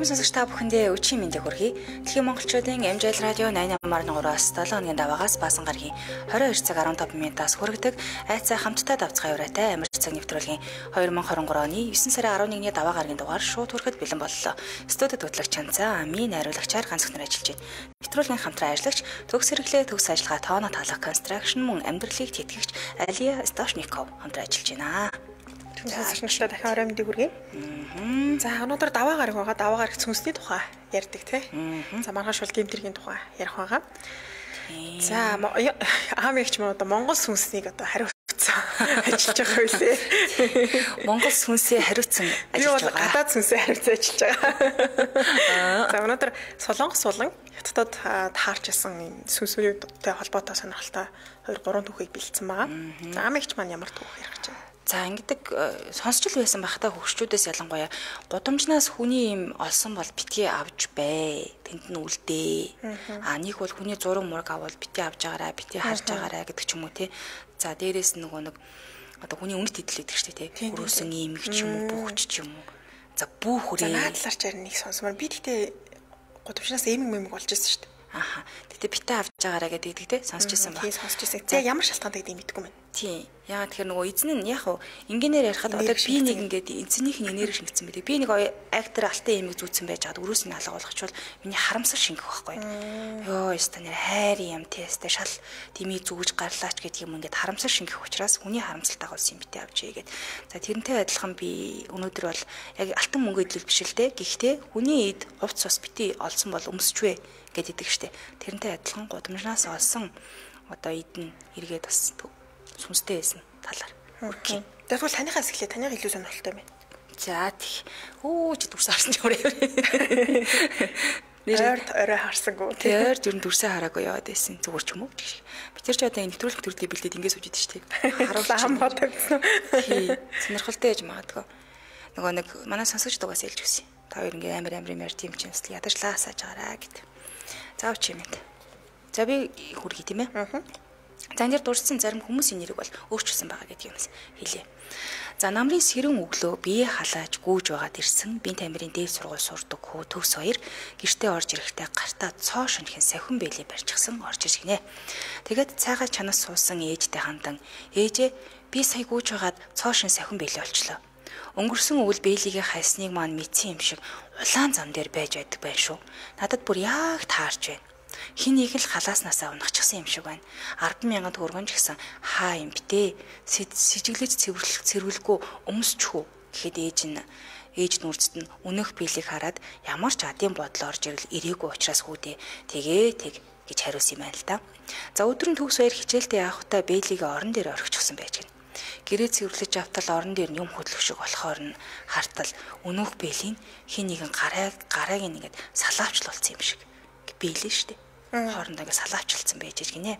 Сонсогч та бүхэндээ өчигдөр мэндийг хүргэе. Дэлхийн монголчуудын MJL радио 88.3-аас 7 хоногийн даваагаас баасан гарагийн 22 цаг 15 минутаас хүргэдэг айцаа хамтдаа давцгаа яваатай амар цаг нэвтрүүлгийн 2023 оны 9 сарын 11-ний даваа гарагийн дугаар шууд хүрэхэд бэлэн боллоо. Студид хөтлөгч Чанцаа, Ами найруулагчаар ганц хүн ажиллаж байна. Нэвтрүүлгийн хамтран ажиллагч төгс хэрэглээ төгс ажиллагаа тооно таалах констракшн мөн амьдралыг тэтгэгч Алия Стошников хамтран ажиллаж байна. Сонсогчдод дахин орой мэндийг хүргэе. За өнөөдөр даваа гараг байгаа. Даваа гараг цүнсний тухай ярьдаг тий. За маргааш бол гэмтэргийн тухай ярих байгаа. За аам ягч мөн одоо Монгол сүнснийг одоо хариуцсан ажиллаж байгаа байлээ. Монгол сүнсээ хариуцсан ажиллаж байгаа. Гадаад сүнсээ хариуцсан ажиллаж байгаа. За өнөөдөр Солонгос болон Хятадд таарч исэн сүнсүүдтэй холбоотой сонирхолтой 2-3 түүхийг бэлдсэн байгаа. За аам ягч маань ямар түүх ярих гэж байна? За ингэдэг сонсчл байсан байхдаа хөгшчүүдээс ялангуяа гудамжнаас хүний юм олсон бол битгий авч бай. Тэнд нь үлдээ. Нэг бол хүний зураг мураг авал битгий авч байгаарай, битгий харж байгаарай гэдэг ч юм уу тий. За дээрээс нөгөө нэг одоо хүний үнэт идэл гэдэг шүү дээ тий. Өрөөсөн имэг ч юм уу, бүхч ч юм уу. За бүхрээ. За наадлаар чаар нэг сонсомоор би тэгтээ гудамжнаас имэг болж ирсэн шүү дээ. Тэгтээ битээ авч байгаарай гэдэг тий сонсч ирсэн ба. Тий сонсч ирсэн. За ямар шалтгаан гэдэг юм мэдгүй мэн. Тийм. Яагаад тэгэхээр нөгөө эзэн нь яг хуу инженеэр ярихад одоо би нэг ингээд эзэнийх нь энерги шингэсэн байдаг. Би нэг актер алтан имийг зүүцсэн байж хаад өрөөс нь алга болгочвол миний харамсал шингэх байхгүй. Йоо, ястаа нэр хайр юм тестэ шал дими зүгж гарлаач гэдэг юм ингээд харамсал шингэх учраас хүний харамсал дагуулсан юм битээ авч ийгээд. За тэрнтэй адилхан би өнөөдөр бол яг алтан мөнгө идэл биш л дээ. Гэхдээ хүний эд хувц бас битээ олсон бол өмсчвэ гэдэг штэ. Тэрнтэй адилхан гудамжнаас олсон одоо эд нь эргээд бас сүнстэй байсан талаар. Окей. Тэгвэл танихаас эхлэе. Таних илүү сонирхолтой байна. За тий. Чи дүрсээ харсан ч өөрөө. Орой харсангүй. Тий, ойр зүрэн дүрсээ хараагүй яваад байсан. Зүгээр ч юм уу. Би тэр ч одоо энэ нэвтрүүлэг төрлөө бэлдээд ингэж сууж идэв штеп. Харуулсан хам бодогдсон. Тий. Сонирхолтой яж магадгүй. Нөгөө нэг манай сонсогч дугаас хэлж өгсөн. Та хоёр ингээ амар ярьж юм чинь ядарчлаа асааж байгаараа гэд. За өч юм энд. За би хүргий тийм ээ. За энэ дурдсан зарим хүмүүсийн нэрийг бол өөрчилсөн байгаа гэдэг юмс хэлье. За намрын сэрэн өглөө бие халааж гүүж байгаад ирсэн бие тамирын дээд сургууль сурдаг хүү төгс хоёр гэртээ орж ирэхдээ гартаа цоо шөнөхийн сахин бэлий барьчихсан орж иж гинэ. Тэгээд цайгаа чанаас суусан ээжтэй хандан ээжээ би сая гүүж байгаад цоо шин сахин бэлий олчлоо. Өнгөрсөн өвөл бэлигээ хайсныг маань мэдсэн юм шиг улаан зам дээр байж байдаг байх шүү. Надад бүр яг таарч байна. Хин нэг л халааснасаа унахчихсан юм шиг байна. 10,000 төгрөгөн ч гэсэн хаа юм битээ. Сэжиглэж цэвэрлэхгүй өмсчихв гэхэд ээж нүрцэд нь өнөх биелийг хараад ямар ч адын бодол орж ирэл ирээгүй учраас хүүдээ тэг гэж хариулсан юм байна л да. За өдрөн төгс баяр хичээлдээ явахдаа бэлигээ орон дээр орхичихсан байж гэнэ. Гэрээ цэвэрлэж автал орон дээр нь юм хөдлөх шиг болохоор нь хартал өнөх бэлийг хин нэгэн гарааг нэгэд салаавчлуулсан юм шиг биелээ штэ. Хоорондоо ингэ салаавчлалцсан байж гинэ.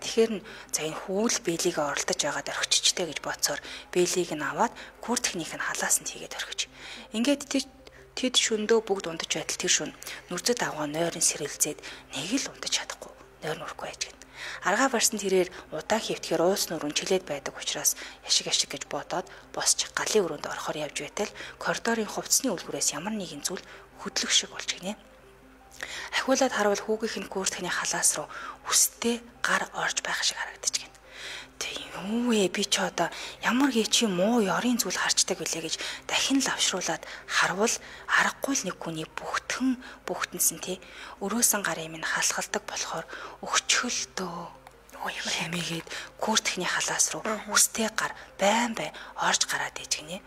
Тэгэхээр за энэ хүүл бэлийг оролдож байгаад орхиччтэй гэж бодсоор бэлийг нь аваад гүр техник нь халаасанд хийгээд орхиж. Ингээд тэд шөндөө бүгд унтаж байтал тэр шүн нүрзэд авгаа нойрын сэрэлзээд нэг л унтаж чадахгүй. Нойр нүрхгүй байж гэнэ. Аргаа барсан тэрээр удаан хөвтгөр уус нүрэн чилээд байдаг учраас яшиг гэж бодоод босч галын өрөөнд орохоор явж байтал коридорын хувцсны үлгүүрээс ямар нэгэн зүйл хөдлөх шиг болж гинэ. Ахиулаад харуул хүүгийнх нь гүртхний халаас руу хүстэй гар орж байх шиг харагдаж гэнэ. Тэг юу вэ би ч одоо ямар гээчи муу ёрын зүйл харчдаг билээ гэж дахин лавшруулад харуул аргагүй л нэг хүний бүгтэнсэн тий өрөөсөн гарын минь халахалдаг болохоор өгчхөлтөө ямар хэмээгээд гүртхний халаас руу хүстэй гар байн орж гараад ээж гинэ.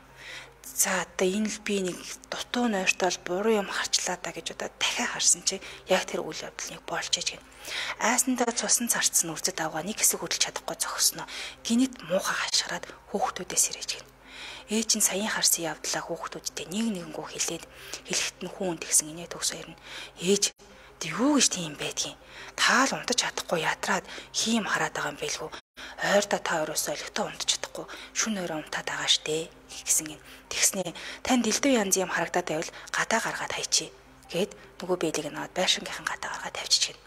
За одоо энэ л би нэг дутуу нойртол буруу юм харчлаа да гэж одоо дахиад харсан чи яг тэр үйл явдлыг болж ээж гэнэ. Айсандаа цусан царцсан үрдэд авгаа нэг хэсэг хөдлөж чадахгүй зогсноо. Гинэт муухай хашгираад хүүхдүүдээс ирэж гэнэ. Ээж нь саяхан харсан явдлаа хүүхдүүдтэй нэгэнгөө хэлэхэд нь хүүн тэгсэн инээ төгс хоёр нь ээж юу гэж тийм байдгийг таал унтаж чадахгүй ядраад хийм хараад байгаа юм бэлгүй. Ойрдоо та өрөөсөө олигтой унтаж чадахгүй шүн өрөө унтаад байгаа штэ гэсэн юм. Тэгснээ тань дэлдөө янз юм харагдаад байвал гадаа гаргаад хайчи гэд нөгөө бэлийг наваад байшингийнхан гадаа гаргаад тавьчих гэнэ.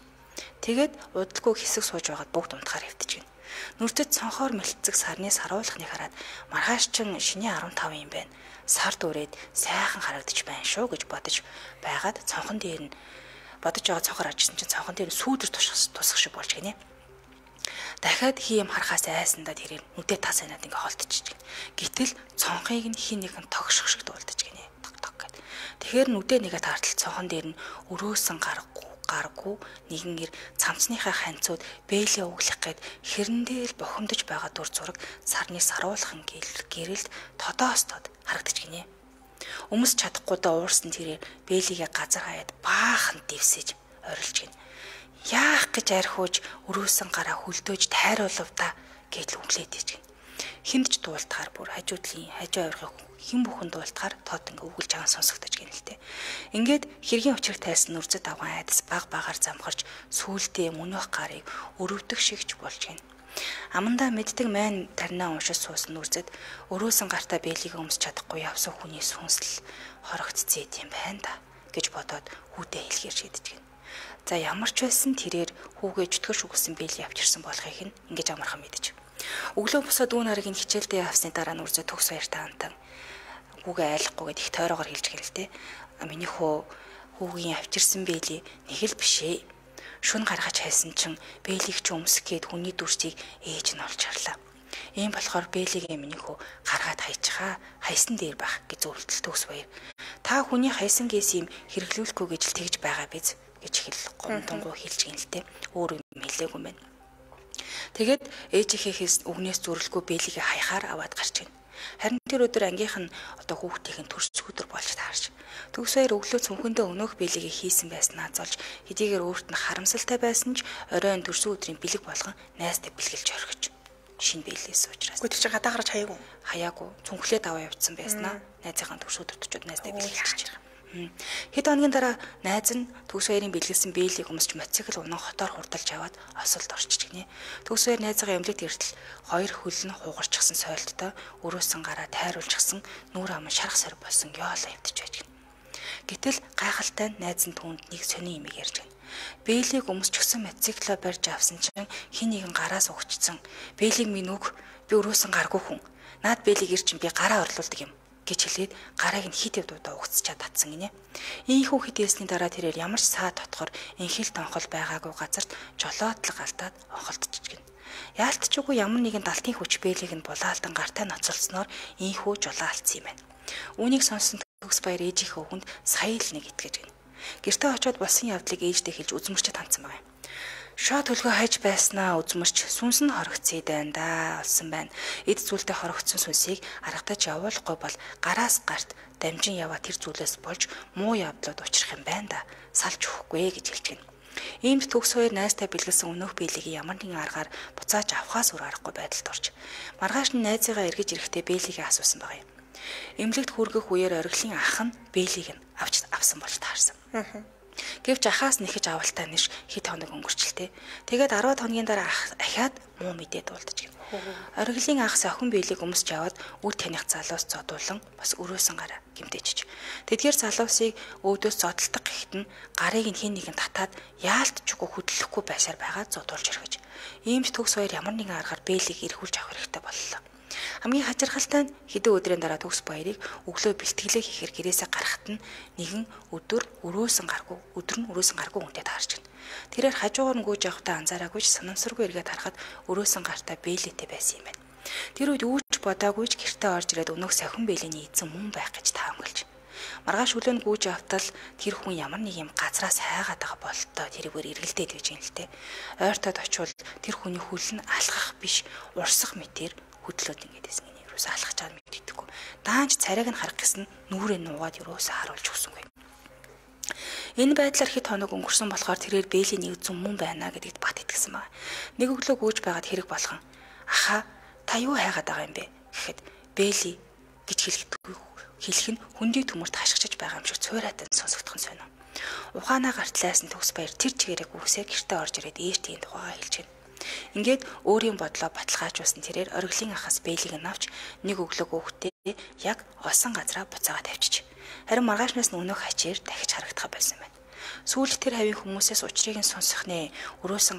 Тэгээд удалгүй хэсэг сууж байгаад бүгд унтахаар хэвтэж гэнэ. Нүрдэд цонхоор мэлтцэг сарны саруулхныг хараад маргааш чин шиний 15 юм байна. Сар дүүрээд сайхан харагдаж байна шүү гэж бодож байгаад цонхон дээр нь бодож байгаа цонхоор арчсан чинь цонхон дээр сүүдэр тусах шиг болж гинэ. Дахиад хийм харахаас айсандаа тэрээр нүдээ тас анаад ингээ холтчих. Гэтэл цонхыг нь хин нэгэн тогших шиг дуулдаж гинэ. Тог гэд. Тэгэхээр нүдээ нэгэ тартал цонхон дээр нь өрөөсөн гаргүй нэгэн цамцныхаа ханцууд бэлээ өглөх гээд хэрнэдэл бухимдаж байгаа дур зураг сарны саруулхан гэрэлд тодоостод харагдаж гинэ. Өмс чадахгүйдаа уурсан тэрээр бэлийгээ газар хаяад баахан дэвсэж орилж гинэ. Яах гэж архиуж өрөөсөн гараа хөлдөөж тайруулв та гэж үглээд ичгэн. Хиндж дуулдахаар бүр хажуу авиргыг хэн бүхэн дуулдахаар тод ингээ үгэлж байгаа сонсогдож гэнэ л тэ. Ингээд хэргийн учрыг тайсан нүрзэд аван айдас багаар замхарч сүулдээ мөнөх гарыг өрөвдөх шигч болж гэнэ. Амандаа мэддэг майн тарнаа уншиж суусан нүрзэд өрөөсөн гартаа бэлийг өмсч чадахгүй явсан хүний сүнсэл хорогцсон юм байна да гэж бодоод хүүдээ хэлгээр шийдэж гэнэ. За ямар ч байсан тэрээр хүүгээ чөтгөш үгсэн бэлий авчирсан болохыг нь ингэж амархан мэдэж. Өглөө босоод дүүн харгийн хичээлдээ авсны дараа нүрзээ төгс баяртай антан хүүгээ айлахгүйгээд их тойроогоор хэлж гэрэлтэй. Миний хүүгийн авчирсан бэлий нэг л бишээ. Шүн гаргаж хайсан чин бэлийг ч өмсөх гээд хүний дүрсийг ээж нь олж харлаа. Ийм болохоор бэлигээ миний хүү гаргаад хайчихаа хайсан дээр байх гэж зөвлөлт төгс баяр. Та хүний хайсан гээс юм хэрэглүүлэхгүй гэж л тэгж байгаа биз гэж хэл гомдонгоо хэлж гинэлтэй. Өөр юм хэлээгүй мэн. Тэгээд ээжийнхээс үгнээс зүрлэхгүй бэлигээ хаяхаар аваад гарч гин. Харин тэр өдөр ангийнх нь хүүхдийн төрс өдөр болж таарч. Төгсөөр өглөө цүнхэндээ өнөөх бэлигээ хийсэн байснаа золж хэдийгээр өөрт нь харамсалтай байсан ч оройн төрсөн өдрийн бэлэг болгон найзтай бэлгэлж орхиж. Шинэ бэлээс учраас. Гэхдээ чи гадаа гарч хаяагүй. Хаяагүй. Цүнхлээд аваа явцсан байснаа. Найзынхаа төрс өдөртчүүд найзтай бэлгэлж байгаа. Хэд хоногийн дараа найз нь төгс баярын бэлгэлсэн бэлийг өмсч мотоцикл унан хотоор хурдалж аваад осолд орчиж гинэ. Төгс баяр найзгаа эмнэлэгт иртэл хоёр хөл нь хугарчихсан сойлттой өрөөсөн гараа тайруулчихсан нүүр ам шарах сар болсон ёолоо явдаж байж гинэ. Гэтэл гайхалтай найз нь түүнд нэг сони имийг ярьж гинэ. Бэлийг өмсчихсэн мотоциклоо барьж авсан чинь хин нэгэн гараас угчсан. Бэлийг минь өг би өрөөсөн гаргүй хүн. Наад бэлийг ир чинь би гараа орлуулдаг юм гэж хэлээд гарааг нь хит явдуудаа угцчаад татсан гинэ. Ийхүү хит ясны дараа тэрээр ямар ч саа дотгор инхэл тонхол байгаагүй газарт жолоодлог алдаад онхолдчих гинэ. Яалтчгүй ямар нэгэн далтын хүч бэлийг нь булаалтан гартаа ноцолсноор ийхүү жолоо алдсан юм байна. Үүнийг сонсон төгс баяр ээжийнхээ хүнд сая л нэг итгэж гинэ. Гэртээ очиод болсон явдлыг ээждээ хэлж үзмэрчэд хандсан байна. Шоо төлгөө хайж байснаа үзмэрч сүнс нь хорогцсон байна да олсон байна. Эд зүйлтэй хорогцсон сүнсийг аргатаж явуулахгүй бол гараас гарт дамжин яваа тэр зүйлээс болж муу явдлууд учрах юм байна да. Салж өгөхгүй гэж хэлж гэнэ. Иймд төгс хоёр найзтай бэлгэлсэн өнөөх бэлийг ямар нэгэн аргаар буцааж авахаас өөр аргагүй байдалд орж. Маргааш нь найзыгаа эргэж ирэхдээ бэлийгээ асуусан байгаа юм. Эмнэлэгт хүргэх үеэр оргилын ах нь бэлийг нь авсан болж таарсан. Гэвч ахаас нэхэж авалтаа ниш хэд хоног өнгөрчлээ. Тэгээд 10 хоногийн дараа ахаад муу мэдээ дуулдаж гин. Оргилын ах сохин бэлийг өмсч аваад үр таних залуус зодуулан бас өрөөсөн гараа гимтээчж. Тэдгээр залуусыг өвдөөс зодтолдог гэхэд нь гарыг нь хэн нэгэн татаад яалтчгүй хөдлөхгүй байсаар байгаа зодуулж өргөж. Иймд төгс хоёр ямар нэгэн аргаар бэлийг эргүүлж авах хэрэгтэй боллоо. Хамгийн хачирхалтай нь хэдэн өдрийн дараа төгс баярыг өглөө бэлтгэлээ хийхээр гэрээсээ гарахад нь нэгэн өдөр өрөөсөн гаргүй үнтэй таарч гин. Тэрээр хажуугаар нь гүйж явахдаа анзаараагүй ч санамсаргүй эргээд харахад өрөөсөн гартаа бэлээтэй байсан юм байна. Тэр үед үүч бодоагүй ч гэртээ орж ирээд өнөөх сахин бэлэний эзэн мөн байх гэж таамаглаж. Маргааш өглөө нь гүйж явтал тэр хүн ямар нэг юм газраас хайгаад байгаа бололтой тэрийгээр эргэлдээд байж гин л те. Ойртоод очивол тэр хүний хөл нь алхах биш урсах мэтэр хөдлөөд ингээд байсан юм. Юусе алхаж байгаа мэддэггүй. Даанч царайг нь харах гэсэн нүрээ нуугаад юусе харуулж өгсөнгүй. Энэ байдлаар хэд хоног өнгөрсөн болохоор тэрээр бэлийн нэг зүм мөн байна гэдэгт бат итгэсэн байна. Нэг өглөө гүйж байгаад хэрэг болгон аха та юу хайгаад байгаа юм бэ гэхэд бэли гэж хэлэх нь хөндий төмөрт хашгичж байгаа юм шиг цуурайтан сонсогдох нь сонио. Ухаанаа гартлаас нь төгс баяр тэр чигээрээ гүрсээ гэртээ орж ирээд ээжтийн тухайгаа хэлж гин. Ингээд өөрийн бодлоо баталгаажуулсан тэрээр оргилын ахаас бэлийг нь авч нэг өглөө хөөхтэй яг олсон газараа буцаагаад тавьчих. Харин маргаашнаас нь өнөөх хачээр дахиж харагдах байсан байна. Сүүлд тэр хавийн хүмүүсээс учрыг нь сонсох нэ өрөөсөн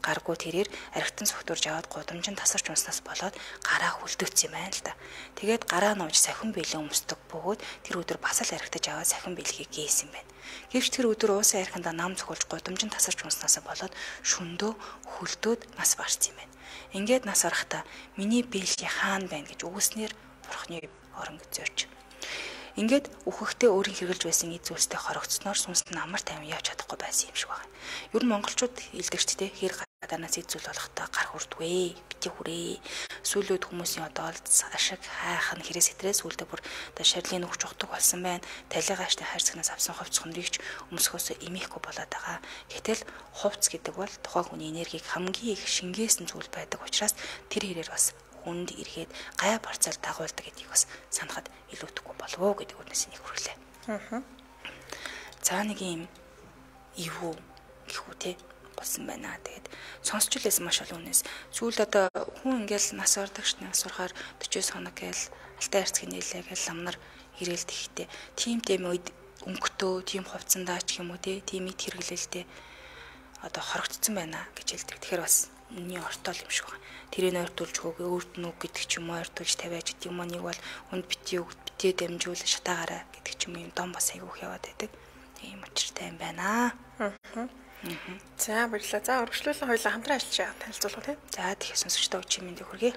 гаргүй тэрээр архитан согтурж аваад гудамжинд тасарч унснаас болоод гараа хүлдөөцсөн юм байна л да. Тэгээд гараа нууж сахин бэлэн өмсдөг бөгөөд тэр өдөр бас л архитаж аваад сахин бэлхийг гээсэн байна. Гэвч тэр өдөр уусан архиндаа нам цохолж гудамжинд тасарч унснаас болоод шөндөө хүлдөөд нас барсан юм байна. Ингээд нас барахдаа миний бэлхий хаана байна гэж үгснээр бурхны орон зорж. Ингээд үхэхтэй өөрийн хэрглэж байсан эд зүйлстэй хорогцсноор сүнс нь амар тайван явж чадахгүй байсан юм шиг байна. Ер нь монголчууд илдэгчтэй хэр гадаанаас эд зүйл болохтой гар хүрдвэ, бити хүрээ. Сүүлүүд хүмүүсийн одоо ашиг хайх нь хэрэг сэтрээс үлдээ бүр одоо шарилын өгч ухдаг болсон байна. Талигааштай хайрцагнаас авсан хувцс хөндрийгч өмсгөөсөө имихгүй болоод байгаа. Гэтэл хувцс гэдэг бол тухайн хүний энергийг хамгийн их шингээсэн зүйл байдаг учраас тэр хэрээр бас хүнд эргээд гай барцаар дагуулдаг гэдгийг бас санахад илүүдэхгүй болов уу гэдэг үгнээс нэг хүрлээ. За нэг юм ивүү гэхүү те болсон байна. Тэгээд сонсч үлээсэн маш олон хүнээс сүүлд одоо хүн ингээл нас ордогч нас урахаар 40 хоног гээл алтай хайрцгийн нээлээ гээл ламнар ирээлт ихтэй. Тим үед өнгөтөө, тим хувцсандаа ч юм уу те, тим ид хэрэглэлтэй одоо хорогдсон байна гэж хэлдэг. Тэгэхээр бас миний ортол юм шиг байна. Тэрийг ойртуулж хөөгөө өөрт нь үг гэдэг ч юм уу ойртуулж тавиаж гэдэг юм. Нэг бол хүнд битээ үг битээ дамжуул шатаагаараа гэдэг ч юм юм дом бас айгүйх яваад байдаг. Тийм учиртай юм байна. За баярлалаа. За өргөжлүүлэн хоёулаа хамтран ажиллаж танилцуулах тийм. За тэгэхээр сонсогчдоо өчигдөр мэндийг хүргэе.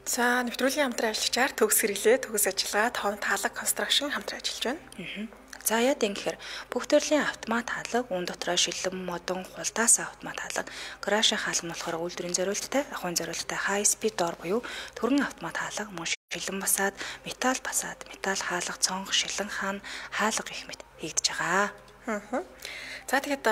За нэвтрүүлгийн хамтран ажиллагчаар төгс хэрэглээ, төгс ажиллагаа, тоон таалаг конструкшн хамтран ажиллаж байна. За яа гэхээр бүх төрлийн автомат хаалга, үн дотроо шилэн, модон, хулдаас автомат хаалга, гаражийн хаалга нь болохоор үйлдвэрийн зориулттай, ахуйн зориулттай high speed door буюу төрөн автомат хаалга, мөн шилэн басаад, металл хаалга, цонх, шилэн хаан, хаалга гэх мэт хийгдэж байгаа. За тэгээд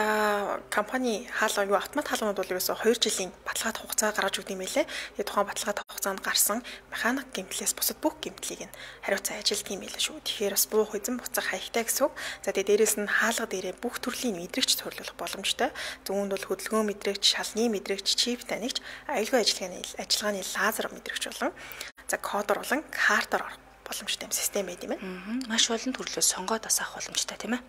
компани хаалга автомат хаалганууд бол ерөөсөө 2 жилийн баталгаат хугацаа гаргаж өгд юм байлээ. Тэгээд тухайн баталгаат хугацаанд гарсан механик гэмтлээс бусад бүх гэмтлийг нь хариуцсан ажилт юм байлаа шүү. Тэгэхээр бас буух эзэн буцах хаягтай гэсэн үг. За тэгээд дээрэс нь хаалга дээрээ бүх төрлийн мэдрэгч цуглуулах боломжтой. Зүүнд бол хөдөлгөөн мэдрэгч, шалны мэдрэгч, чип танигч, аюулгүй ажиллагааны лазер мэдрэгч болон за кодор болон картаар орох боломжтой юм систем байд юм байна. Маш олон төрлөөс сонгоод бас авах боломжтой тийм ээ.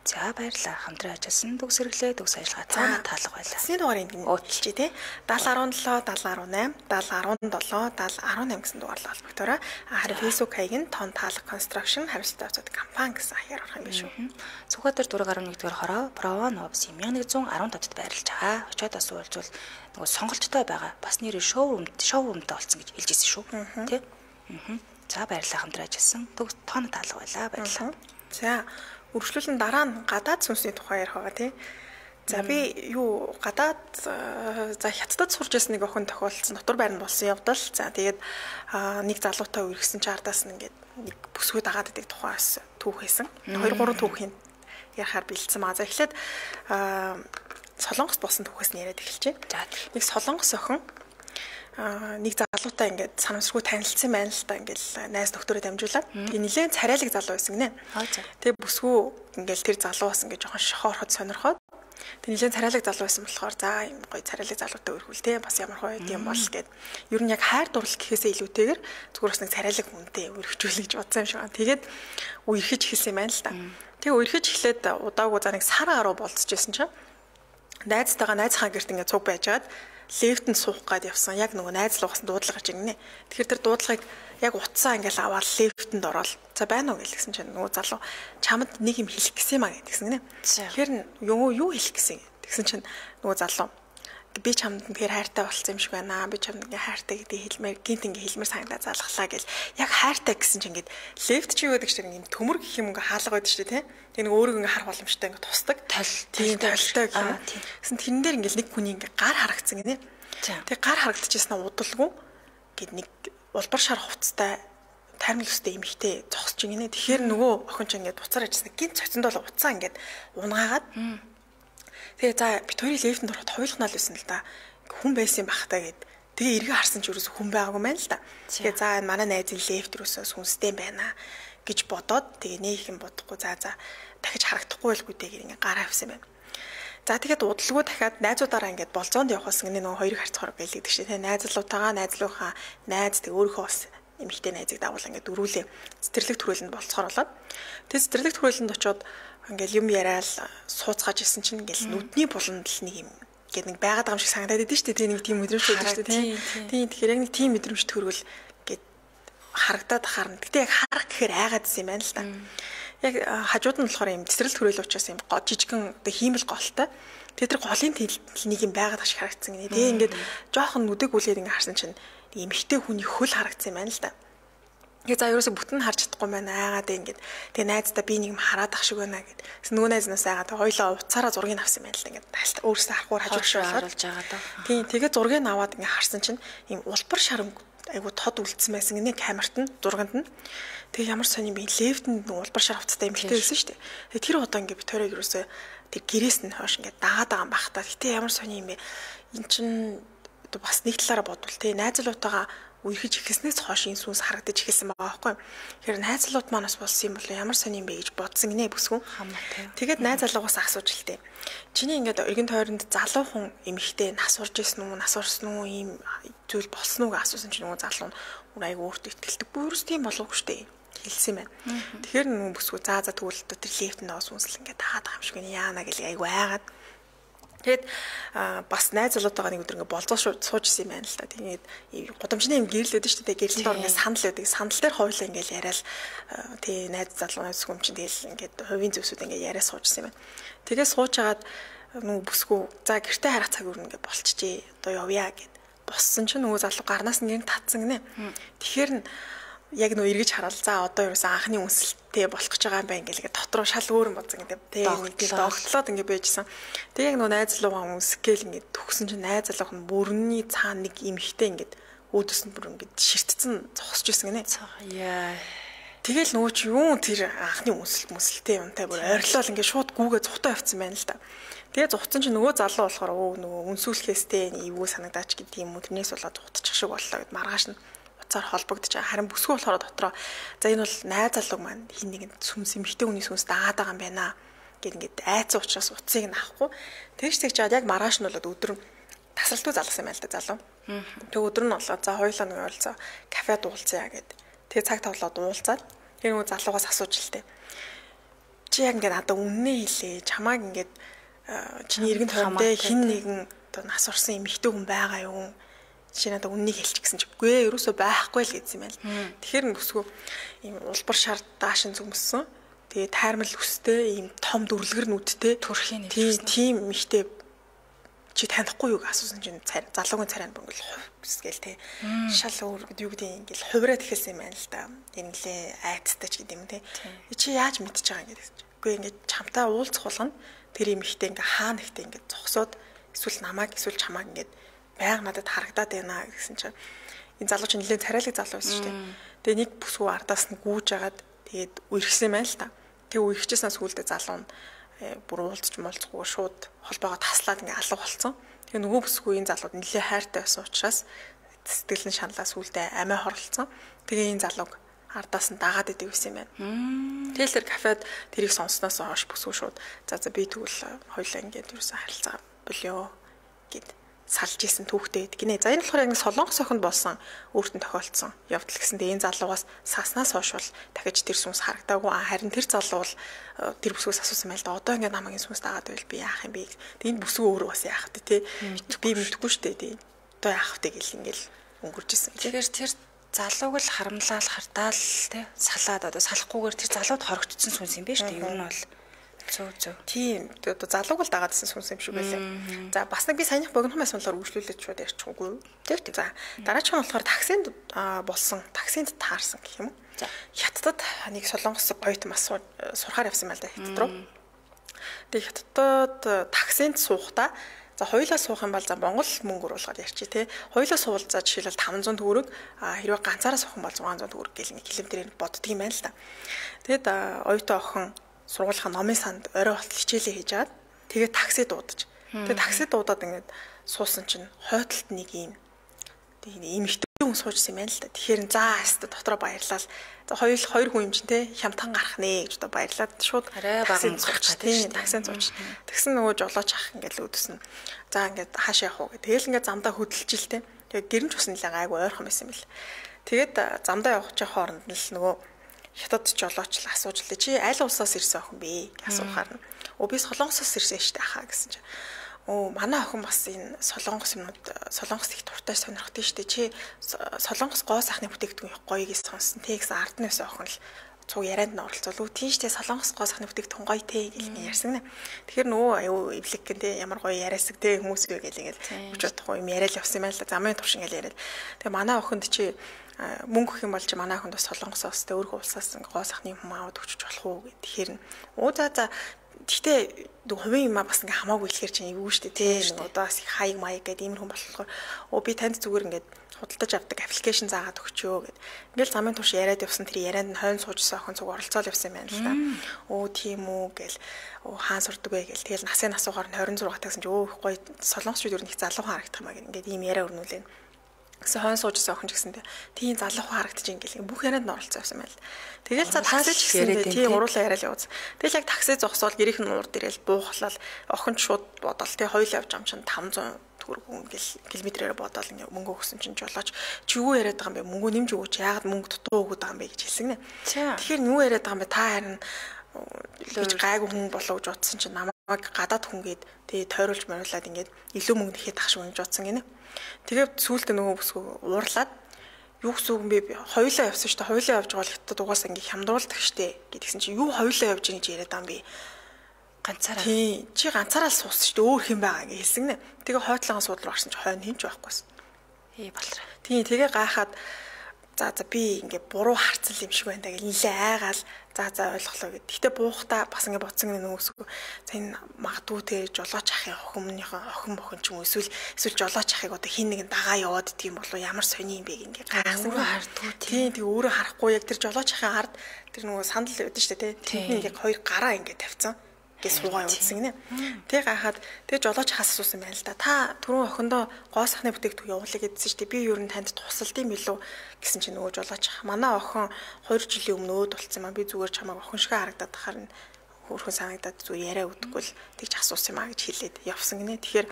За баярлалаа. Хамтран ажилласан төгс хэрэглээ, төгс ажиллагаа цаана таалга байлаа. Сний дугаарыг өөчлөе тий. 7017, 7018, 7017, 7018 гэсэн дугаарлал холбогдороо. Харин Facebook хаяг нь тон таалга конструкшн хариуцлага авцад компани гэсэн хаягаар орох юм биш үү? Сүхбаатар 4.1-р хороо Провановс 1115 дотод байрлаж байгаа. Очоод бас уулзвал нөгөө сонголттой байгаа. Бас нэр шоурумтай болсон гэж хэлжсэн шүү. Тий. За баярлалаа хамтран ажилласан. Төгс тон таалга байлаа. Баярлалаа. За үргэлжлүүлэн дараа нь гадаад сүнсний тухай ярих байгаа тий. За би гадаад за хятадд сурч байсан нэг охин тохиолдсон дотор байранд болсон явдал. За тэгээд нэг залуутай үргэсэн чи ардаас нь ингээд нэг бүсгүй дагаад идэг тухайс түүх хийсэн. 2-3 түүхийн ярахаар бэлдсэн маа. За эхлээд Солонгост болсон түүхээс нь яриад эхэлчихье. За нэг Солонгос охин нэг залуутай ингээд санамсргүй танилцсан байна л та ингээл найз нөхдөөрөө дамжуулаад тэгээ нэлээд царайлаг залуу байсан гинэ. Тэгээ бүсгүй ингээл тэр залуу бас ингээд жоохон шохоорход сонирхоод тэгээ нэлээд царайлаг залуу байсан болохоор за юм гоё царайлаг залуутай өргөл те бас ямар гоё юм бол гэд ер нь яг хайр дурлал гэхээсээ илүүтэйгээр зүгээр бас нэг царайлаг хүнтэй өргөжүүлэх гэж бодсон юм шиг байна. Тэгээд үерхэж эхэлсэн юм байна л та. Тэгээ үерхэж эхлээд удаагүй за нэг сар гаруй болцчихсэн чинь найзтайгаа найзхаа гэрт ингээд цуг байжгаад лифтэнд суух гээд явсан. Яг нөгөө найзлуугаас дуудлага гарч ирнэ. Тэгэхээр тэр дуудлагыг яг утсаа ингээл аваад лифтэнд ороод за байна уу гэлсэн чинь нөгөө залуу чамд нэг юм хэлэх гэсэн юм аа гэдгсэн гинэ. Тэгэхээр юу хэлэх гэсэн. Тэгсэн чинь нөгөө залуу би чамд тэгэхээр хайртай болсон юм шиг байна. Би чамд ингээ хайртай гэдэг хэлмээр гинт ингээ хэлмээр санагдаа залглаа гэл. Яг хайртай гэсэн чинь ингээд лифт чи юу гэдэг чинь ингээ төмөр гэх юм ингээ хаалга байдаг шүү дээ, тий. Тэгээ нэг өөрийгөө ингээ харах боломжтой ингээ тусдаг. Тийм толтой гэх юм. Гэсэн тэрэн дээр ингээ нэг хүний ингээ гар харагдсан гинэ. Тэгээ гар харагдчихсан удалгүй гэд нэг улбар шар хувцастай таймл өстэй эмхтэй зогсож гинэ. Тэгэхээр нөгөө охин ч ингээ буцаар ажилласан гинт цоцондоо уцаа ингээ унгаагаад тэгээ за бит хоёрын лифтэнд ороход хойлохнаа л байсан л да. Хүн байсан бах та гэд. Тэгээ эргээ харсан ч ерөөсө хүн байгаагүй мэн л да. Тэгээ за манай найзын лифт рүүсээ сүнстэй байна гэж бодоод тэгээ нэг юм бодохгүй за дахиж харагдахгүй байлгүй дээ гэр ингээ гараа авсан байна. За тэгээд удалгүй дахиад найзуудаараа ингээд болзоонд явахсан гэнэ нөгөө хоёрыг харьцахаар гэлэгдэг шээ. Тэгээ найзлуутаагаа найзлуухаа найз тэг өөрийнхөө бас эмэгтэй найзыг дагуул ингээд дөрүүлээ цэцэрлэг төрөлөнд болцохоор болоод тэгээ цэцэрлэг төрөлөнд очиод ингээл юм яриад сууцгааж исэн чинь ингээл нүдний буланд л нэг юм гэдэг нэг байгаад байгаа юм шиг санагдаад идэв шүү дээ. Нэг тийм мэдрэмж байдаг шүү дээ. Тийм тэгэхээр яг нэг тийм мэдрэмж төрвөл гээд харагдаад харна. Гэтэ яг харах гэхээр айгаад исэн юм байна л да. Яг хажууд нь болохоор юм цэцэрлэг төрөл учраас юм жижигхэн одоо хиймэл голтой. Тэр голын нэг юм байгаад ашиг харагдсан гинэ. Тэгээ ингээд жоохон нүдэг үлээд ингээд харсан чинь эмхтэй хүний хөл харагдсан юм байна л да. Тэгээ за ерөөсө бүтэн харж чадахгүй байна айгаад ингээд тэгээ найздаа би нэг юм хараад ах шиг байна гэд. Нөгөө найзнаас айгаад хоёлоо уцаараа зургийг авсан байна л да ингээд өөрөөсөө харахгүйгээр хажууд харуулж байгаа даа. Тийм тэгээ зургийг аваад ингээд харсан чинь юм улбар шарам айгу тод үлдсэн байсан гинэ камерт нь зурганд нь. Тэгээ ямар сони би лефтэнд улбар шар авцтай эмхтэй байсан шүү дээ. Тэр одоо ингээд Викторийг ерөөсөө тэр гэрээс нь хойш ингээд дагаад байгаа юм бах та. Гэтэ ямар сони юм бэ? Эн чин бас нэг талаараа бодвол тий найзлуутайгаа үерхэж ихэснээс хойш энэ сүнс харагдаж ихэсэн байгаа байхгүй. Тэгэхээр найзлууд манаас болсон юм бол ямар сони юм бэ гэж бодсон гинэ бүсгүй. Тэгээд найз залуугаас асууж л тээ. Чиний ингээд эргэн тойронд залуу хүн эмхтэй нас урж исэн үү, нас урсан уу ийм зүйл болсон уу гэж асуусан чинь нөгөө залуу нь айгу өөртөө итгэлдэг. Бүрс тийм болоогүй штэ хэлсэн юм байна. Тэгэхээр нөгөө бүсгүй за тэгвэл тэр лефтэнд оос үнсэл ингээд таагаад байгаа юм шиг яана гэл айгу айгаад. Тэгэд бас найз залуутайгаа нэг өдөр ингээ болзоо сууж исэн юм байна л та. Тэгээд гудамжны юм гэрлээд шүү дээ. Гэрлэн дор ингээ санал байдаг. Санал дээр хойлоо ингээ яриад тий найз залуу найз хүм чинь тэгэл ингээ хувийн зүйлсүүд ингээ яриа сууж исэн юм байна. Тэгээд сууж агаад нөгөө бүсгүй за гэртээ харах цаг өөр ингээ болчихжээ. Одоо явъя гэд боссон чинь нөгөө залуу гарнаас нь гэн татсан гинэ. Тэгэхээр яг нөө эргэж хараад за одоо ерөөсөн анхны үнсэлтэй болох гэж байгаа юм байна ингээл дотроо шал өөр юм бодсон гэдэг. Тэгээ догтлоод ингээ байжсэн. Тэгээ яг нөө найз залуугаа үнсгээл ингээ төгсөн чинь найз залуух нь бүрний цаана нэг эмхтэй ингээ өөдөөс нь бүр ингээ ширтцэн зогсож ирсэн гинэ. Яа. Тэгэл нөгөө чи юу тэр анхны үнсэлтэй юмтай бүр ойрлол ингээ шууд гүүгээ зүхтаа явцсан байна л да. Тэгээ зугцсан чинь нөгөө залуу болохоор нөгөө үнсүүлэхээстэй эвгүй санагдаач гэдэг юм уу тэрнээс болоод зугтчих шиг боллоо гэд маргааш нь холбогдож байгаа. Харин бүсгүй болохоор дотроо за энэ бол найз залуу маань хин нэгэн сүнс эмхтэй хүний сүнс дагаад байгаа юм байна гэд ингээд айцсан учраас уцыг нь авахгүй. Тэгж жаад яг маргааш нь болоод өдөр тасралтгүй залгасан юм байл та залуу. Тэг өдөр нь болоод за хоёулаа нэг ойлцоо кафед уулзъя гэд. Тэгээ цаг тавлаад уулзаад тэр нөгөө залуугаас асууж л тээ. Чи яг ингээд надад үннээ хэлээ. Чамааг ингээд чиний эргэн тойрондоо хин нэгэн одоо нас орсон эмхтэй хүн байгаа юу? Чи надад үннийг хэлчих гэсэн чи үгүй ээ ерөөсөө байхгүй л гэсэн юм байна. Тэгэхээр нүсгүй ийм улбар шар даашин зүмссэн. Тэгээ тайрмал өстэй ийм том дүрлэгэр нүдтэй төрхийн тийм эмхтэй чи танихгүй юу гэж асуусан чинь залуугийн царай бөнгөл хувьсгээл те шал өөр юу гэдэг ингээл хувираад эхэлсэн юм байна л да. Инглээ айцтай ч гэдэг юм те. Чи яаж мэдчихэж байгаа юм гэдэг. Үгүй ингээд чамтай уулзах болгоно тэр эмхтэй ингээ хаана ихтэй ингээ зогсоод эсвэл намайг эсвэл чамааг ингээ байг надад харагдаад байна гэсэн чинь энэ залуу чинь нэлээд царайлаг залуу байсан шүү дээ. Тэгээ нэг бүсгүй ардаас нь гүүж агаад тэгээд үерхсэн юм байна л та. Тэгээ үерхчихсэн сүулдэ залуу нь бүр уулзч молцгоо шууд холбоогоо таслаад ингээ алга болцсон. Тэгээ нөгөө бүсгүй энэ залууд нэлээд хайртай байсан учраас сэтгэл нь шаналаа сүулдэ амиа хорлцсон. Тэгээ энэ залууг ардаас нь дагаад идэв гэсэн юм байна. Тэгэл тэр кафед тэрийг сонссноос хойш бүсгүй шууд за би тэгвэл хоёлаа ингээд юусан харилцаа болёо гэд салж исэн түүхтэй байдаг гинэ. За энэ болохоор яг солонгос охинд болсон өөртөө тохиолдсон явдал гэсэндээ энэ залуугаас саснаас хойш бол дахиж тэр сүнс харагдаагүй. Харин тэр залуу бол тэр бүсгөөс асуусан байл да. Одоо ингээд намайг энэ сүнс дагаад байвал би яах юм бэ? Тэгээд энэ бүсгүй өөрөө бас яах вэ те? Би мэдгүй шүү дээ тий. Одоо яах вэ гэл ингээл өнгөрч исэн. Тэгэхээр тэр залууг л харамлал хартаал те салаад одоо салахгүйгээр тэр залууд хорогдсон сүнс юм биш үү? Ер нь бол зөв. Тийм. Одоо залууг л дагаадсэн сүнс юм шиг байлаа. За бас нэг би саяных богинохоос болохоор үргэлжлүүлээд шууд ярьчихгүй. Тэр. За дараачих нь болохоор таксинд болсон. Таксинд таарсан гэх юм уу? За хятадд нэг солонгос гоёт мас сурахаар явсан байл да хятад руу. Тэгээ хятадд таксинд суухдаа за хоёулаа суух юм бол за Монгол мөнгө оруулахаар ярьчих тий. Хоёулаа суувал за жишээлбэл 500 төгрөг хэрвээ ганцаараа суух юм бол 600 төгрөг гэл нэг километрээр боддөг юм байна л да. Тэгэд оюутан охин сургуулийн номын санд орой болтол хичээлээ хийж аваад тэгээд такси дуудаж. Тэгээд такси дуудаад ингээд суусан чинь хойдолд нэг юм эмэгтэй хүн суужсэн юм байна л да. Тэгэхээр за хаста дотроо баярлал. За хоёр хүн юм чинь те хямдхан гарах нэ гэж одоо баярлаад шууд таксинд суучих тийм таксинд сууч. Тэгсэн нөгөө жолооч ах ингээд л өдөснө. За ингээд хаашаа явах вэ? Тэгэл ингээд замдаа хөдөлж ил те. Тэгээд гэрэмч усан нэлээ гайгүй ойрхон байсан юм бэл. Тэгээд замдаа явах чинь хооронд нь л нөгөө хятад жолооч л асууж лээ. Чи аль улсаас ирсэн охин бэ? Асуухаар нь. Би солонгосоос ирсэн штэ хаа гэсэн чинь. манай охин бас энэ солонгос юмнууд солонгос их дуртай сонирхдаг шүү дээ. Чи солонгос гоо сайхны бүтээгдэхүүн гоё гэж сонссон. Тэгс ард нь байсан охин л цуг ярианд нь оролцвол тийштэй солонгос гоо сайхны бүтээгдэхүүн гоё те гэж ярьсан нэ. Тэгэхээр нөгөө аюу эвлэг гэн те ямар гоё яриасаг те хүмүүс үү гэл ингээд хүч бодохгүй юм яриад явсан юм байна л да. Замын турш ингээд яриад. Тэгээ манай охинд чи мөнгө өгөх юм бол чи манай охинд бас солонгосоос те өөрхөн улсаас гоо сайхны юм аваад өгч болох уу гэх. Тэгэхээр за гэхдээ хувийн юм бас ингээ хамаагүй хэлэхэр чинь эвгүй шүү дээ тий. Одоо бас хаяг маяг гэдэг ийм хүн болохоор би танд зүгээр ингээд худалдаж авдаг аппликейшн заагаад өгчөө гэд. Ингээл замын турш яриад явсан тэр ярианд нь хойно суужсан охин цуг оролцоол явсан юм байна л да. Тийм үү гэл хаан сурдаг вэ гэл. Тэгэл насын асуугаар нь 26 тагсан чи гоё солонгосчууд ер нь их залуу харагдах юм аа ингээд ийм яриа өрнүүлээ. Гэсэн хойно суужсан охин ч гэсэндээ тийм залуу харагдаж ингээл бүх ярианд нь оролцсон юм байна л. Тэгэл за такси ч гэсэндээ тийм уруулаа яриад явуулсан. Тэгэл яг такси зогсоол гэрийнх нь урд ирэл буухлал охин шууд бодол тий хоёул явж ам чинь 500 төгрөг километрээр бодоол ингээ мөнгө өгсөн чинь жолооч чи юу яриад байгаа юм бэ? Мөнгө нэмж өгөөч. Яагаад мөнгө дутуу өгöd байгаа юм бэ гэж хэлсэн гинэ. Тэгэхээр юу яриад байгаа юм бэ? Та харин гэж гайгүй хүн болоо гэж утсан чинь намайг гадаад хүн гээд тэгээ тойруулж мориулаад ингээд илүү мөнгө нэхэд ах шиг гэж утсан гинэ. Тэгээд сүүлдээ нөгөө бүсгүй уурлаад юу гэсэн үг бэ? Хоёулаа явсан шүү дээ. Хоёулаа явж байгаа л хятад угаасаа ингээ хямдруулдаг штэ гэдгсэн чинь юу хоёулаа явж байгаа гэж яриад байгаа юм би. Ганцаараа. Тий, чи ганцаараа л суусан шүү дээ. Өөр хэм байгаа гэж хэлсэн нэ. Тэгээ хойтлогоо суудлаар орсон чи хойно хинч байхгүйсэн. Болроо. Тий, тэгээ гайхаад за би ингээ буруу харцсан юм шиг байна гэж нилээ айгаал за ойлголоо гэд. Гэтэ буухтаа бас ингээ бодсон нөгөөсгөө за энэ магадгүй те жолооч ахын охин бохин ч юм уу эсвэл жолооч ахыг одоо хин нэгэн дагаа яваад идэх юм болов ямар сони юм бэ ингээ гайхсан. Өөрөө хардгүй тий. Тэгээ өөрөө харахгүй яг тэр жолооч ахын ард тэр нөгөө сандал байдаг шүү дээ те. Тэнд ингээ хоёр гараа ингээ тавьсан. Гэж суугаа явуулсан гинэ. Тэг гахаад тэг жолооч хас асуусан байна л да. Та түрүүн охиндоо гоо сайхны бүтээгдэхүүн явуулъя гэдсэн чинь би юу н танд тусалд юм билүү гэсэн чинь нөгөө жолооч манай охин 2 жилийн өмнө өөд болцсон маа би зүгээр чамайг охин шиг харагдаад тахаар нь хөөрхөн санагдаад зүгээр яриа өгдөггүй л тэгж асуусан юм аа гэж хэлээд явсан гинэ. Тэгэхээр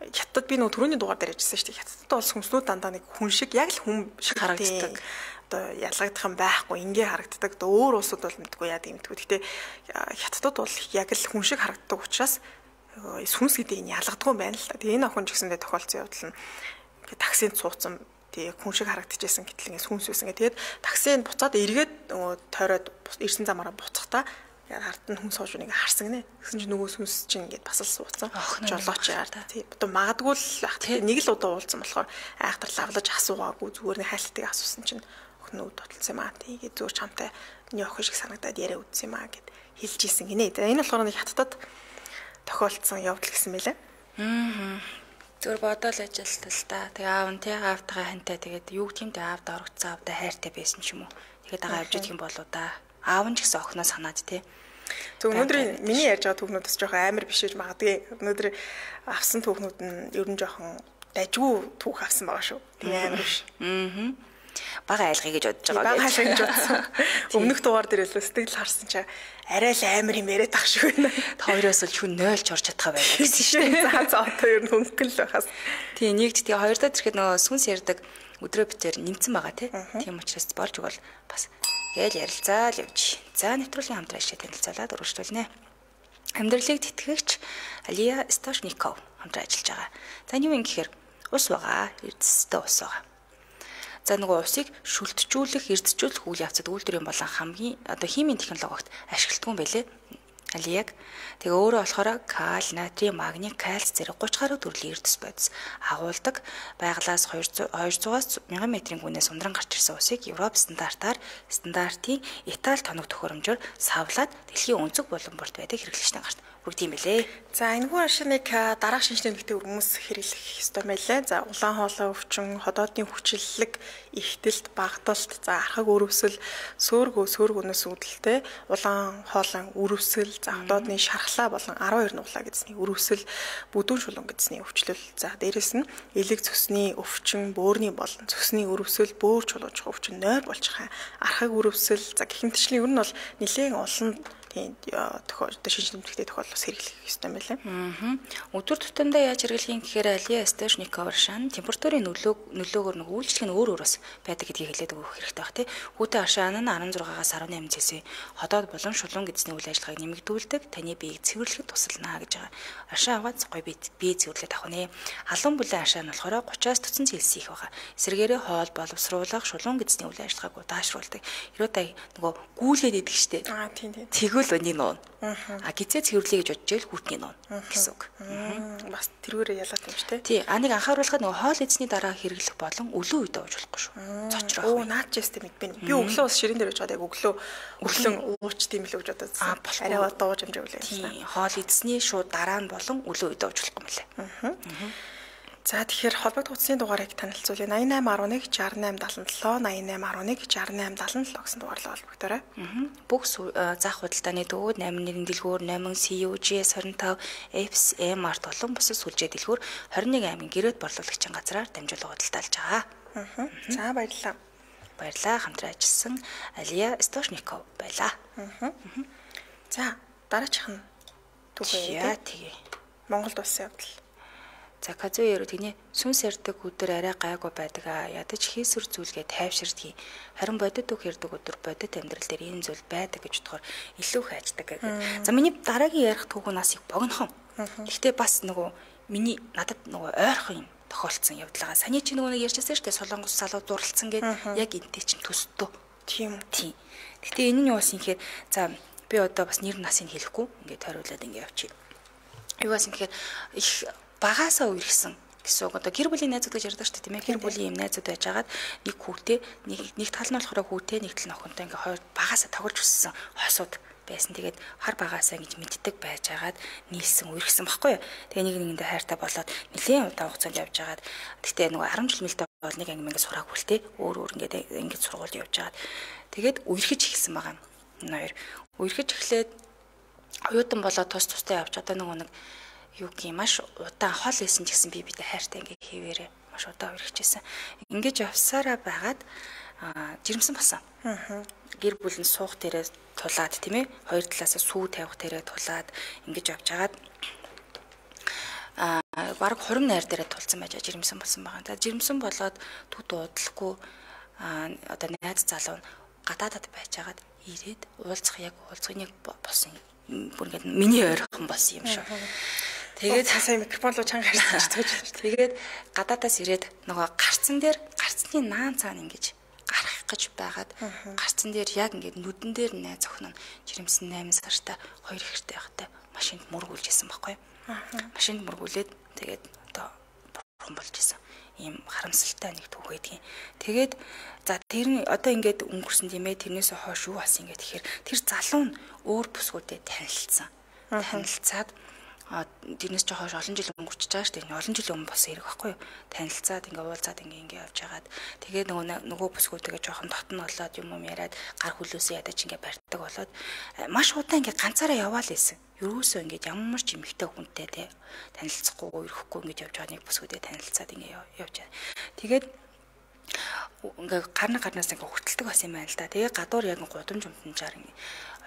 хятад би нөгөө түрүүний дугаар дээр ярьжсэн шүү дээ. Хятадд бол хүнснүүд дандаа нэг хүн шиг яг л хүн шиг харагддаг. Одоо ялгагдах юм байхгүй ингээ харагддаг. Өөр улсууд бол мэдгүй яа гэдэг мэдгүй. Гэтэ хятадд бол яг л хүн шиг харагддаг учраас сүнс гэдэг нь ялгадгүй юм байна л да. Тэгээ энэ охин ч гэсэндээ тохиолдсон явдал нь ингээ таксинд суудсан тэгээ хүн шиг харагдчихсэн гэтэл ингээ сүнс байсан. Тэгээд таксинд буцаад эргээд тойроод ирсэн замаараа буцахдаа ард нь хүн сууж нэг харсан гинэ. Гэсэн чинь нөгөө сүнс чинь ингээд бас л суудсан. Жолооч яар тий. Одоо магадгүй л нэг л удаа уулзсан болохоор айхтар лавлаж асуугаагүй зүгээр нэг хайлтыг асуусан чинь охин үүд бодлсон юм аа. Тэгээд зүгээр чамтай миний охин шиг санагдаад яриа үдсэн юм аа гэд хэлж ийсэн гинэ. Энэ болохоор нэг хаттад тохиолдсон явдал гэсэн мэлээ. Зүгээр бодоол ажилт л та. Тэгээ аав нь тий аавтайгаа хантай тэгээд юу гэмтэй аавд орогцсон аавда хайртай байсан ч юм уу. Тэгээд дагаа явж идэх юм болоо да. Аав нь ч гэсэн охиноо санаад тий. Зөв өнөөдөр миний ярьж байгаа түүхнүүдс жоохон амар биш гэж магадгүй. Өнөөдөр авсан түүхнүүд нь ер нь жоохон дажгүй түүх авсан байгаа шүү. Тэгээ амар биш. Бага айлгыг гэж бодож байгаа. Бага айлгыг гэж бодсон. Өмнөх дугаар дээр л сэтгэл харсан чаа арай л амар юм яриад ах шиг байна. Та хоёроос л шүн 0 ч орж чадхаа байлаа гэсэн шүү. За одоо ер нь хөнгөн л байхаас. Тий, нэгд тэгээ хоёр дахь ирэхэд нөгөө сүнс ярьдаг өдрөө битээр нэмсэн байгаа тий. Тийм учраас болж өгвөл бас гээл ярилцаал явж. За нэвтрүүлгийн хамтран ашиг танилцуулаад өргөжлүүлнэ. Амьдралыг тэтгэгч Алия Стошников хамтран ажиллаж байгаа. За юу юм гэхээр ус байгаа, эрдэстэй ус байгаа. За нөгөө усыг шүлтжүүлэх, эрдэжүүлэх үйл явцад үйлдвэрийн болон хамгийн одоо химийн технологид ашигладаг юм байлээ. Алияг тэгээ өөрөө болохоор кал, натрий, магний, кальц зэрэг 30 гаруй төрлийн эрдэс бодис агуулдаг байгалаас 200-аас 1000 метрийн гүнээс ундран гарч ирсэн усыг Европ стандартын Итали тоног төхөөрөмжөөр савлаад дэлхийн өнцөг булан бүрт байдаг хэрэглэгчтэй гарт бүгд юм билээ. За энэхүү ашигныг дараах шинжлэх ухааны хүмүүс хэрэглэх ёстой байлаа. За улаан хоолой өвчин, ходоодны хүчлэлэг, ихтэлт, багталт, за архаг өрөвсөл, сөөргөнөөс үүдэлтэй улаан хоолойн өрөвсөл, за ходоодны шархлаа болон 12 нуглаа гэдсний өрөвсөл, бүдүүн шулуун гэдсний өвчлөл. За дээрэс нь элэг цөсний өвчин, бөөрийн болон цөсний өрөвсөл, бөөр чулуужих өвчин, нойр болчих архаг өрөвсөл, за гихмитчлийн ер нь бол нэлээд олон тийм шинж тэмдэгтэй тохиолдол бас хэрэглэх ёстой юм байна лээ. Өдөр тутамдаа яаж хэрэглэхийн гэхээр Алия Стошников Аршан температурын нөлөөгөөр нэг үйлчлэг нь өөр өөрөөс байдаг гэдгийг хэлээд өгөх хэрэгтэй баг тий. Хүүтэй Аршан нь 16-аас 18 Цэсийн ходоод болон шулуун эзний үйл ажиллагааг нэмэгдүүлдэг, таны биеийг цэвэрлэхэд тусална гэж байгаа. Аршан аваад гоё бие цэвэрлээд авах нэ. Халуун бүлээн Аршан болохоор 30-аас 40 Цельс их байгаа. Эсвэргээрээ хоол боловсруулах, шулуун эзний үйл ажиллагааг удаашруулдаг. Хэрвээ та нөгөө гүүлээд идэг штэ. Тийм. Тэгвэл өний нуун. Гизээ цэвэрлэе гэж бодож ийл хүүтний нуун гэсэн үг. Бас тэрүүрээ ялаад юм шүү дээ. Тий, нэг анхааруулахад нөгөө хоол эзний дараа хэрэглэх болон өлөө үедээ ууж болохгүй шүү. Цочроо. Наад ч ястэй мэдбэ. Би өглөө бас ширэн дээр байж байгаа яг өглөө ууч тийм л гэж бодоод. Арай дууж амжаа үлээ. Тий, хоол эзний шууд дараа нь болон өлөө үедээ ууж болохгүй мөлий. За тэгэхээр холбогдох утасны дугаарыг танилцуулъя. 8811 6877 8811 6877 гэсэн дугаарлаа холбогдоорой. Бүх заах худалдааны дүүд 81 дэлгүүр 8 CUG 25 FSM арт болон бусад сүлжээ дэлгүүр 21 аймгийн гэрээд борлуулагчийн газраар дамжуулан худалдаалж байгаа. За баярлалаа. Баярлалаа. Хамтран ажилласан Алия Стошников байлаа. За дараачих нь түүхээ. Тэгээ. Монголд улсын явдал. За казуяро тэгний сүнс ярддаг өдөр арай гайгүй байдаг а ядаж хийсвэр зүйлгээ тайвширдгийг харин бодит үг ярддаг өдөр бодит амьдрал дээр ийм зүйл байдаг гэж бодохоор илүү их хайждаг гэдэг. За миний дараагийн ярих түүхнээс их богинохон. Гэхдээ бас нөгөө миний надад нөгөө ойрхон юм тохиолдсон явдлаа. Саний чи нөгөө нэг ярьжсэн шүү дээ Солонгос залуу дурлцсан гэдэг яг энтэй чинь төстөө. Тийм. Гэхдээ энэ нь юу бас юм гэхээр за би одоо бас нэр насыг хэлэхгүй ингээд тойруулаад ингээд явчих. Юу бас юм гэхээр их багаасаа үерхсэн гэсэн үг. Одоо гэр бүлийн найзууд гэж ярьдаг шүү дээ тийм ээ. Гэр бүлийн юм найзууд байжгаад нэг хүүтэй нэг тал нь болохоор хүүтэй нэг тал нь охинтой ингээ хоёр багаасаа тоглож өссөн хосууд байсан. Тэгээд хар багаасаа ингэж мэддэг байжгаад нийлсэн үерхсэн баггүй юу. Тэгээ нэг нэгэндээ хайртай болоод нэлийн удаа хугацаанд явж байгаад гэхдээ нөгөө 10 жил мэлтэй бол нэг анги ингээ сураагүй л те. Өөр ингээ сургуульд явж байгаад тэгээд үерхэж эхэлсэн байгаа. Ноёр үерхэж эхлээд оюутан болоод тустай явж одоо нэг юу гэх юм маш удаан хол байсан ч гэсэн бидээ хайртай ингээ хийвэрээ маш удаан үргэжсэн. Ингэж явсараа байгаад жирэмсэн басан. Гэр бүл нь суух дээрээ тулаад тийм ээ хоёр талаасаа сүү тавих дээрээ тулаад ингэж явж хагаад бараг 20 найр дээрээ тулсан байж жирэмсэн болсон байгаа. За жирэмсэн болоод түд уудлахгүй одоо найз залуу гадаадад байж хагаад ирээд уулзах яг уулзахын яг болсон бүр ингэ миний ойрхон болсон юм шүү. Тэгээд сая микрофон руу чанга харсан ч тооч. Тэгээд гадаадаас ирээд нөгөө гарцсан цааны наан цаана ингэж гарах гэж байгаад гарцсан дээр яг ингэ нүдэн дээр найз охин нь жирэмсэн 8 сартай 2 ихтэй байхтай машинд мөргүүлж исэн байхгүй. Машинд мөргүүлээд тэгээд одоо бурхан болж исэн. Ийм харамсалтай нэг түүх байдгийн. Тэгээд за тэр нь одоо ингээд өнгөрсөн тийм ээ тэрнээс хойш юу болсон ингээд тэгэхээр тэр залуу нь өөр бүсгүүдэд танилцсан. Танилцаад тэрнээс ч хойш олон жил өнгөрч байгаа шүү дээ. Олон жилийн өмнө болсон хэрэг байхгүй юу? Танилцаад ингээ уулзаад ингээ явж хагаад тэгээд нөгөө бүсгүүтэйгээ жоохон дотн болоод юм яриад гар хөлөөсөө ядаж ингээ барьдаг болоод маш удаан ингээ ганцаараа яваал ийсэн. Юусоо ингээ ямар ч эмэгтэй хүнтэй те танилцахгүй ирэхгүй ингээ явж байгаа нэг бүсгүүтэй танилцаад ингээ явж байгаа. Тэгээд ингээ гарнаас ингээ хүртэлдэг бас юм байна л да. Тэгээ гадуур яг гудамж умтанчаар ингээ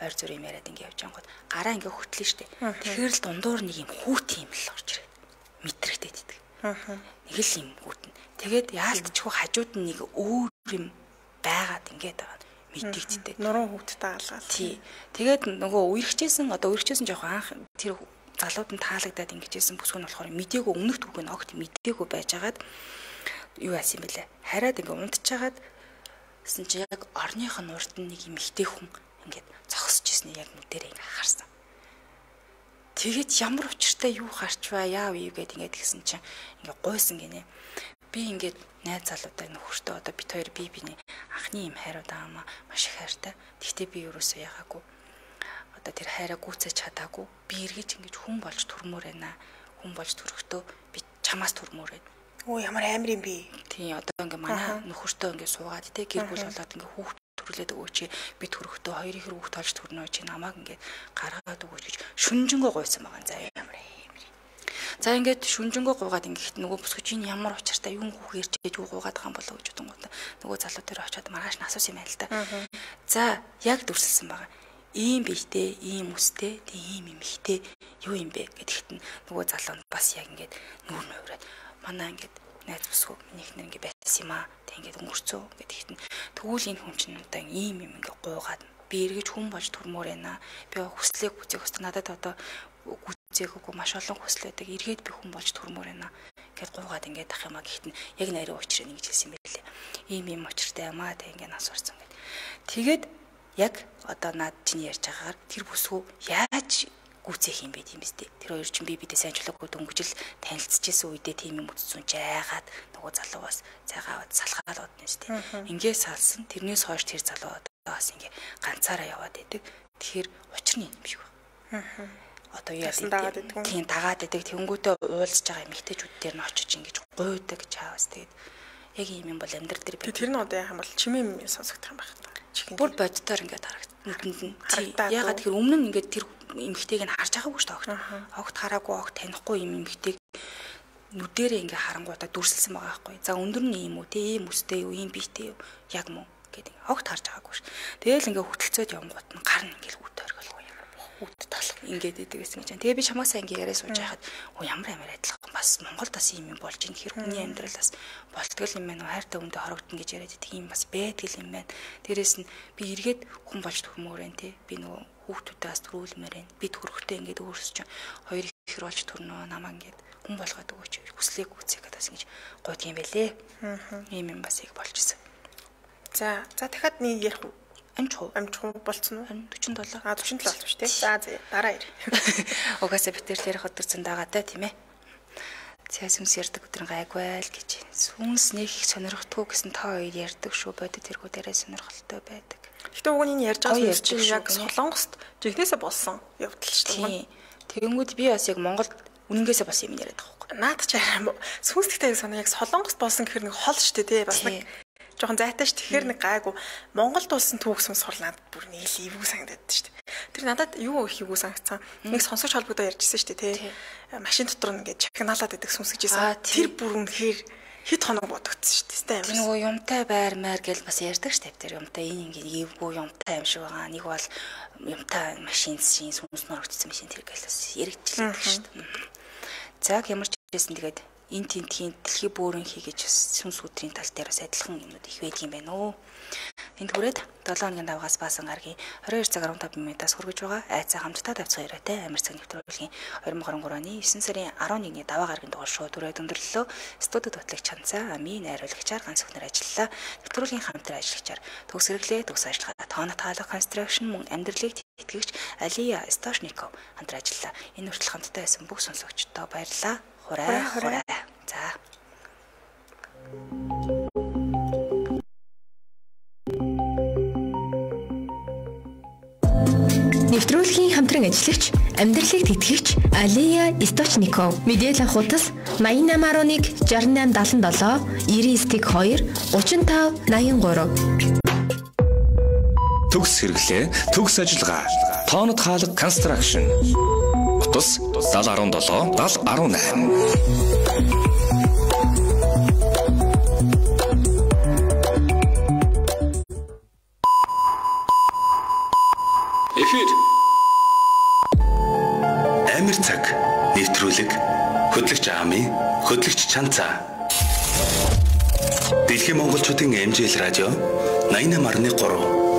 ойр зүр юм яриад ингээ явж ангууд гараа ингээ хөтлөн штэ. Тэгэхээр л дундуур нэг юм хүүт юм л орж ирээд мэдрэгдээд идэг. Нэг л юм хүүт нь. Тэгээд яалтчгүй хажууд нь нэг өөр юм байгаад ингээд байгаа мэдэгддэг. Нуруу хүүттэй алгаад. Тий. Тэгээд нөгөө үерхжсэн жоох анх тэр залууд нь таалагдаад ингэжсэн бүсгүй нь болохоор мдээгүй өмнөх түүхийг огт мдээгүй байжгаад юу яасан юм бэлээ. Хараад ингээ унтчихагаад гэсэн чи яг орных нь урд нь нэг юм ихтэй хүн ингээд зогсож ирсний яг нүдэрээ ингээ харсан. Тэгээд ямар учиртай юу харч бай яав юу гэд ингээд гисэн чинь ингээ гойсон гинэ. Би ингээд найз залуутай нөхөртөө одоо бит хоёр биний анхны юм хайрууд аамаа маш их хайртай. Тэгтээ би юусоо ягаагүй. Одоо тэр хайраа гүйцэж чадаагүй. Би эргэж ингэж хүн болж төрмөр байна. Хүн болж төрөхдөө би чамаас төрмөр байна. Оо ямар амар юм бэ? Тий одоо ингээ манай нөхөртөө ингээ суугаад те гэр бүл болоод ингээ хүүхд төрлөөд өгөөч би төрөхдөө хоёр их хүүхд толж төрнөө чи намайг ингээ гаргаад өгөөч гэж шүнжэнгөө гойсон байгаа заа ямар юм. За ингээд шүнжэнгөө гуугаад ингээд нөгөө бүсгүчийн ямар учиртай юу хүүхээр чиж юу гуугаад байгаа юм болоо гэж бодонгууд нөгөө залуу дээр очиод маргааш нь асуусан юм байл та. За яг дүрсэлсэн байгаа. ийм бийтэй, ийм үстэй, ийм эмхтэй юу юм бэ гэдэгт нөгөө залуунд бас яг ингээд нүүр нөөрөөд манай ингээд найз бүсгүй минийхнэр ингээд байсан юм аа. Тэг ингээд өнгөрцөө гэдэгт тэгвэл энэ хүн чинь одоо ийм юм ингээд гуугаад би эргэж хүн болж төрмөр байна. Би хүслийг үзэх хөстө надад одоо гүцээггүй маш олон хүсэл байдаг. Эргээд би хүн болж төрмөр байна. Гэт гуугаад ингээд ах юм аа гэхдээ яг нарийн учрыг ингэж хэлсэн юм байлээ. Ийм учиртай юм аа тэг ингээд асуурсан гэд. Тэгээд яг одоо наад чинь ярьж байгаагаар тэр бүсгүй яаж гүцээх юм бэ тийм биз дээ. Тэр хоёр чинь бидээ сайнчлаагүй дөнгөжл танилцчихсэн үедээ тийм юм үтцүүн жаагаад нөгөө залуугаас цайгаад салхаад одно шүү дээ. Ингээ салсан тэрнээс хойш тэр залуу бас ингээ ганцаараа яваад идэг. Тэгэхээр учир нь юм шиг байна. Одоо яа гэдэг тийм дагаад идэг тэнгүүтээ уулзж байгаа эмэгтэйчүүд дээр нь очиж ингэж гуйдаг чаавс тэгээд яг ийм юм бол амьдрал дээр би тэр нь одоо яах юм бол чимээ сонсогдох юм байна. Бүр боддоор ингээд харагдана. Ягаад тэгэхээр өмнө нь ингээд тэр эмэгтэйг нь харж байгаагүй шүү дээ. Огт хараагүй, огт танихгүй юм эмэгтэйг нүдэрээ ингээд харангуудаа дүрсэлсэн байгаа байхгүй. За өндөр нь ийм үү, ийм үстэй юу, ийм биетэй юу, яг мөн гэдэг огт харж байгаагүй шүү. Тэгээл ингээд хөтөлцөөд явгууд нь гар нь ингээд үт оргилгүй юм. Үт толох ингээд идэг гэсэн гэж. Тэгээ би чамаасаа ингээд яриа сууж байхад ямар адилхан бас Монголд бас ийм юм болж ин хэр хүний амьдралаас болтгол юм байна уу хайртай хүндээ хорогдно гэж яриад идэг юм бас байдаг юм байна. Дээрээс нь би эргээд хүн болж төрмөөрэн тий. Би нөгөө хүүхдүүдээс төрүүлмээр байна. Би төрөхтэй ингээд өөрсөж хоёр ихэр болж төрнөө намаа ингээд хүн болгоод өгөөч хүслээ гүцээх гэдээс ингэж гойд юм байлээ. Ийм юм бас их болж исэн. За дахиад нэг ярих уу? Амжих болцсон уу? 47. 47 болсон шүү дээ. За дараа ир. Угаасаа битэр ярих өдөр зөндаагатай тийм ээ. Цаас сүнс ярддаг өдрийн гайгүй л гэж. Сүнс нэг сонирхдаггүй гэсэн та хоёр ярддаг шүү. Бодит тэргүүдээрээ сонирхолтой байдаг. Гэхдээ уг нь энэ ярьж байгаа юм чинь яг Солонгост жигнэсээ болсон явдал шүү дээ. Тэгэнгүүт би бас яг Монголд үнэнгээсээ бас юм яриад байгаа байхгүй. Наад ч арай сүнс гэхдээ санаа яг Солонгост болсон гэхэр нэг хол шүү дээ тий. Бас нэг жоохон зайтай ш. Тэгэхээр нэг гайгүй Монголд улсын түүх сүнс хол надад бүр нэг ивгүй санагдаад ш. Тэр надад юу их ивгүй санагдсан. Нэг сонсогч холбогдоо ярьжсэн ш. Тий. Машин дотор ингээд чагнаалаад байдаг сүнс гэжсэн. Тэр бүр үнэхээр хэд хоног бодогдсон ш. Тэ амар. Нөгөө юмтай байр маяр гэл бас ярьдаг ш. Тэр юмтай энэ ингээд ивгүй юмтай юм шиг байгаа. Нэг бол юмтай машин шин сүнс нөрөгдсөн машин тэр гэл бас яригдчихлээ ш. За ямар ч байсан тэгээд энэ тентхийн дэлхий бөөрийн хийгэж сүнс өдрийн тал дээр бас адилхан юмнууд их байдаг юм байна уу. Энд хүрээд 7 хоногийн давгаас баасан гаргийн 22 цаг 15 минутаас хүргэж байгаа айцаа хамтдаа давцгаа яриатай амир цаг нэвтрүүлгийн 2023 оны 9 сарын 11-ний даваа гаргийн дугаар шууд өрөө өндөрлөлөө студид батлагч Чанцаа Ами найруулагчаар ганц өхнөр ажиллалаа. Нэвтрүүлгийн хамтран ажиллагчаар төгс хэрэглээ төгс ажиллагаа тоонот хаалга констракшн мөн амьдралыг тэтгэгч Алия Истошников хамтран ажиллалаа. Энэ хүртэл хамтдаа байсан бүх сонсогчдоо баярлалаа. Хураа. За. Нэвтрүүлгийн хамтран ажиллагч, амьдралыг тэтгэгч Алия Источников, мэдээлэл авахутас 8811 6877 99 2 35 83. Төгс хэрэглээ, төгс ажиллагаа, тоонот хаалга констракшн. Утас 7017 7018. Эфир Амир цаг нэвтрүүлэг хөтлөгч Ами, хөтлөгч Чанцаа. Дэлхийн монголчуудын MJL радио 88.3